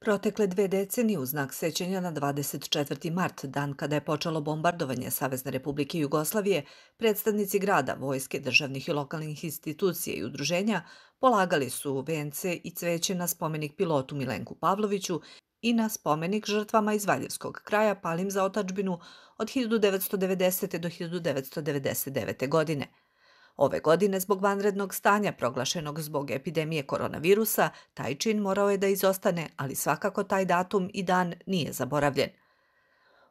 Protekle 2 decenije u znak sećanja na 24. mart, dan kada je počelo bombardovanje Savezne Republike Jugoslavije, predstavnici grada, vojske, državnih i lokalnih institucija i udruženja polagali su vence i cveće na spomenik pilotu Milenku Pavloviću i na spomenik žrtvama iz Valjevskog kraja palim za otadžbinu od 1990. do 1999. godine. Ove godine, zbog vanrednog stanja proglašenog zbog epidemije koronavirusa, taj čin morao je da izostane, ali svakako taj datum i dan nije zaboravljen.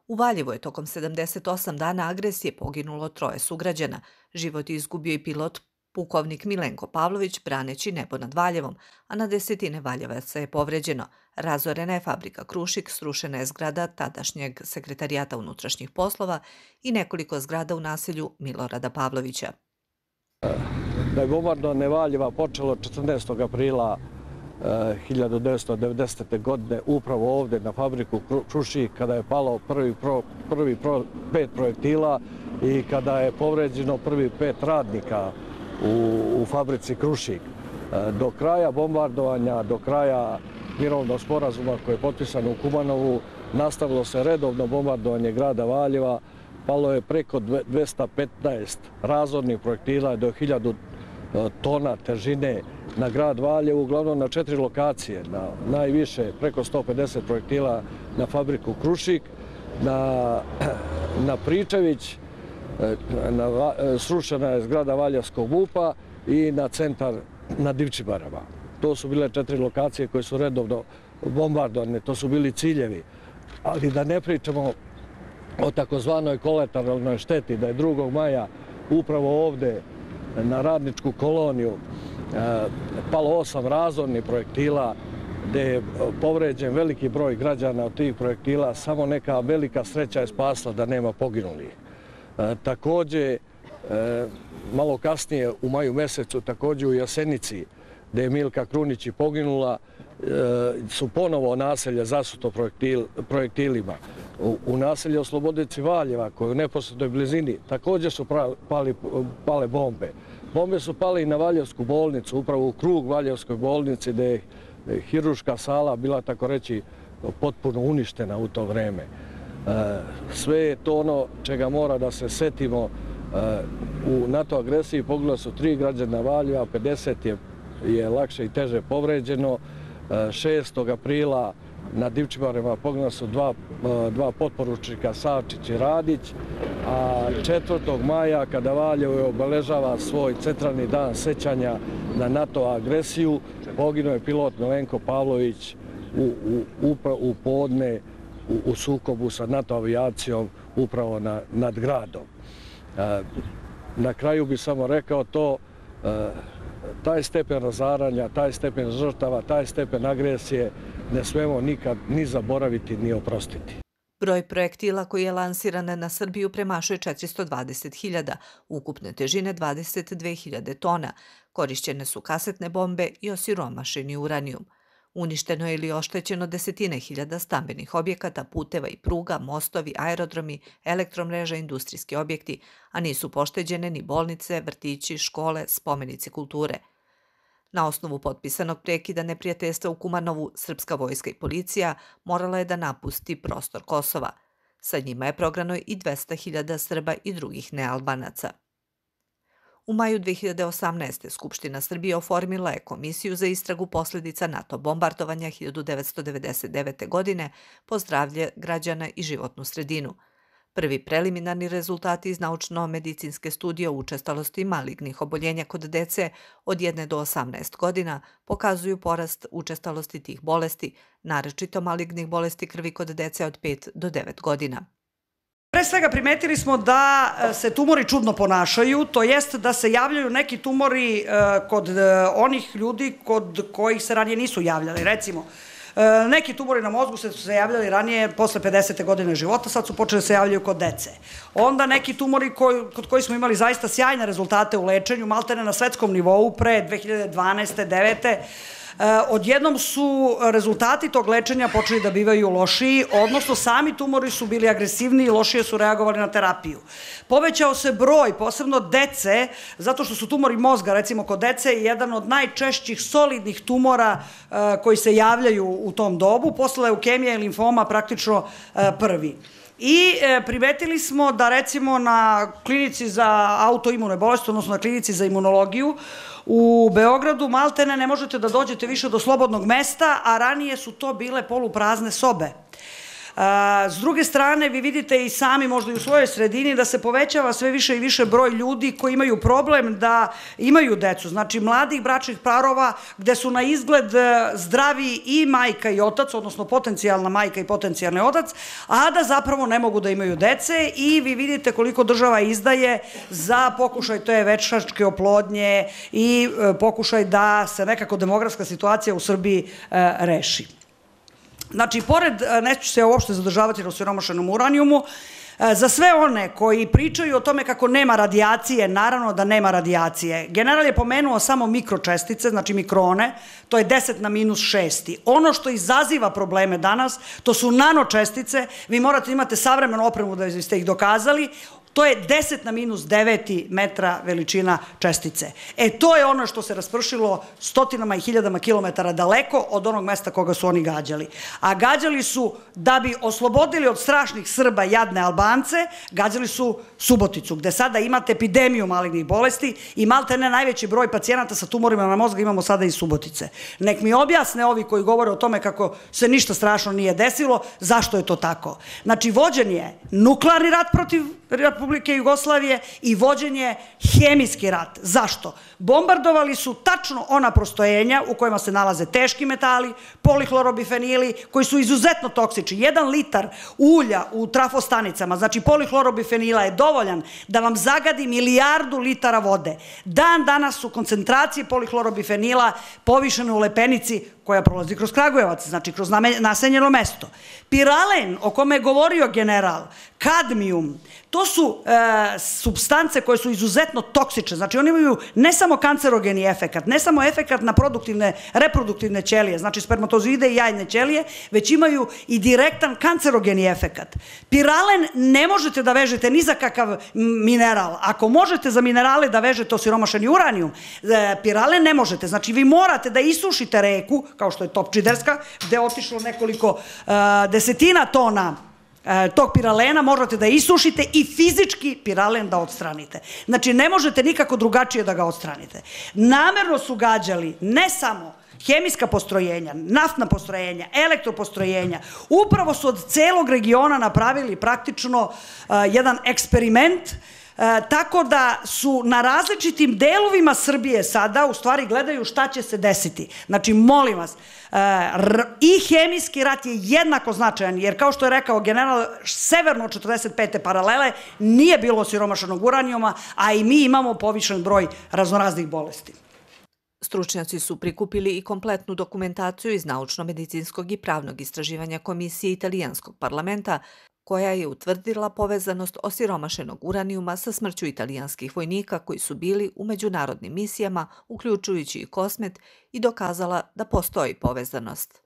U Valjevu je tokom 78 dana agresije poginulo 3 sugrađana. Život je izgubio i pilot pukovnik Milenko Pavlović braneći nebo nad Valjevom, a na desetine Valjevaca je povređeno. Razorena je fabrika Krušik, srušena je zgrada tadašnjeg sekretarijata unutrašnjih poslova i nekoliko zgrada u naselju Milorada Pavlovića. Da je bombardovanje Valjeva počelo 14. aprila 1990. godine upravo ovdje na fabriku Krušik, kada je palo prvi 5 projektila i kada je povređeno prvi 5 radnika u fabrici Krušik. Do kraja bombardovanja, do kraja mirovnog sporazuma koji je potpisan u Kumanovu, nastavilo se redovno bombardovanje grada Valjeva. Palo je preko 215 razornih projektila do 1000 tona težine na grad Valjevo, uglavnom na 4 lokacije. Najviše preko 150 projektila na fabriku Krušik, na Pričević, srušena je zgrada Valjevskog MUP-a i na centar na Divčibarama. To su bile 4 lokacije koje su redovno bombardovane, to su bili ciljevi. Ali da ne pričamo o takozvanoj kolateralnoj šteti, da je 2. maja upravo ovdje na Radničku koloniju palo 8 razornih projektila, gdje je povređen veliki broj građana od tih projektila. Samo neka velika sreća je spasla da nema poginulih. Također, malo kasnije u maju mjesecu, također u Jasenici, gdje je Milka Krunić i poginula, su ponovo naselje zasuto projektilima. U naselju Oslobodici Valjeva, koje u neposrednoj blizini, također su pale bombe. Bombe su pale i na Valjevsku bolnicu, upravo u krug Valjevskoj bolnici, gdje je hiruška sala bila, tako reći, potpuno uništena u to vreme. Sve je to ono čega mora da se setimo. U NATO agresiji poginulo su 3 građana Valjeva, 50 je lakše i teže povređeno. 6. aprila na Divčibarima poginula su dva potporučnika, Savčić i Radić, a 4. maja, kada Valjevo obeležava svoj centralni dan sećanja na NATO agresiju, poginuo je pilot Milenko Pavlović u podne u sukobu sa NATO avijacijom upravo nad gradom. Na kraju bih samo rekao to, taj stepen razaranja, taj stepen žrtava, taj stepen agresije ne smemo nikad ni zaboraviti ni oprostiti. Broj projektila koji je lansiran na Srbiju premašuje 420.000, ukupne težine 22.000 tona. Korišćene su kasetne bombe i osiromašeni uranijum. Uništeno je ili oštećeno desetine hiljada stambenih objekata, puteva i pruga, mostovi, aerodromi, elektromreža, industrijski objekti, a nisu pošteđene ni bolnice, vrtići, škole, spomenici kulture. Na osnovu potpisanog prekida neprijateljstva u Kumanovu, srpska vojska i policija morala je da napusti prostor Kosova. Sa njima je prognano i 200.000 Srba i drugih nealbanaca. U maju 2018. Skupština Srbije oformila je Komisiju za istragu posljedica NATO bombardovanja 1999. godine po zdravlje građana i životnu sredinu. Prvi preliminarni rezultati iz naučno-medicinske studije o učestalosti malignih oboljenja kod dece od 1 do 18 godina pokazuju porast učestalosti tih bolesti, naročito malignih bolesti krvi kod dece od 5 do 9 godina. Pre svega primetili smo da se tumori čudno ponašaju, to jest da se javljaju neki tumori kod onih ljudi kod kojih se ranije nisu javljali. Recimo, neki tumori na mozgu su se javljali ranije posle 50. godine života, sad su počeli da se javljaju kod dece. Onda neki tumori kod kojih smo imali zaista sjajne rezultate u lečenju, maltene na svetskom nivou, pre 2012. 2009. odjednom su rezultati tog lečenja počeli da bivaju lošiji, odnosno sami tumori su bili agresivniji i lošije su reagovali na terapiju. Povećao se broj, posebno dece, zato što su tumori mozga, recimo kod dece, jedan od najčešćih solidnih tumora koji se javljaju u tom dobu, posle leukemija i limfoma praktično prvi. I primetili smo da recimo na klinici za autoimune bolesti, odnosno na klinici za imunologiju u Beogradu maltene ne možete da dođete više do slobodnog mesta, a ranije su to bile poluprazne sobe. S druge strane, vi vidite i sami možda i u svojoj sredini da se povećava sve više i više broj ljudi koji imaju problem da imaju decu, znači mladih bračnih parova gde su na izgled zdravi i majka i otac, odnosno potencijalna majka i potencijalni otac, a da zapravo ne mogu da imaju dece i vi vidite koliko država izdaje za pokušaj te veštačke oplodnje i pokušaj da se nekako demografska situacija u Srbiji reši. Znači, pored, neću se uopšte zadržavati na osiromašenom uranijumu, za sve one koji pričaju o tome kako nema radijacije, naravno da nema radijacije. General je pomenuo samo mikročestice, znači mikrone, to je 10 na minus 6. Ono što izaziva probleme danas, to su nanočestice, vi morate imati savremenu opremu da biste ih dokazali, to je 10 na minus 9 metra veličina čestice. To je ono što se raspršilo stotinama i hiljadama kilometara daleko od onog mesta koga su oni gađali. A gađali su, da bi oslobodili od strašnih Srba jadne Albance, gađali su Suboticu, gde sada imate epidemiju malignih bolesti i maltene najveći broj pacijenata sa tumorima na mozga imamo sada iz Subotice. Nek mi objasne ovi koji govore o tome kako se ništa strašno nije desilo, zašto je to tako. Znači, vođen je nuklearni rat protiv Republike Jugoslavije i vođen je hemijski rat. Zašto? Bombardovali su tačno ona postrojenja u kojima se nalaze teški metali, polihlorobifenili, koji su izuzetno toksični. 1 litar ulja u trafostanicama, znači polihlorobifenila je dovoljan da vam zagadi 1 milijardu litara vode. Dan danas su koncentracije polihlorobifenila povišene u Lepenici, koja prolazi kroz Kragujevac, znači kroz naseljeno mesto. Piralen, o kome je govorio general, kadmijum, to su supstance koje su izuzetno toksične, znači oni imaju ne samo kancerogeni efekat, ne samo efekat na reproduktivne ćelije, znači spermatozoide i jajne ćelije, već imaju i direktan kancerogeni efekat. Piralen ne možete da vežete ni za kakav mineral. Ako možete za minerale da vežete osiromašeni uranijum, piralen ne možete. Znači vi morate da isušite reku, kao što je Topčiderska, gde je otišlo nekoliko desetina tona tog piralena, možete da isušite i fizički piralen da odstranite. Znači, ne možete nikako drugačije da ga odstranite. Namerno su gađali ne samo hemijska postrojenja, naftna postrojenja, elektropostrojenja, upravo su od celog regiona napravili praktično jedan eksperiment, tako da su na različitim delovima Srbije sada u stvari gledaju šta će se desiti. Znači, molim vas, i hemijski rat je jednako značajan, jer kao što je rekao general, severno od 45. paralele nije bilo osiromašenog uranijuma, a i mi imamo povišen broj raznoraznih bolesti. Stručnjaci su prikupili i kompletnu dokumentaciju iz naučno-medicinskog i pravnog istraživanja Komisije italijanskog parlamenta, koja je utvrdila povezanost osiromašenog uranijuma sa smrću italijanskih vojnika koji su bili u međunarodnim misijama, uključujući i Kosmet, i dokazala da postoji povezanost.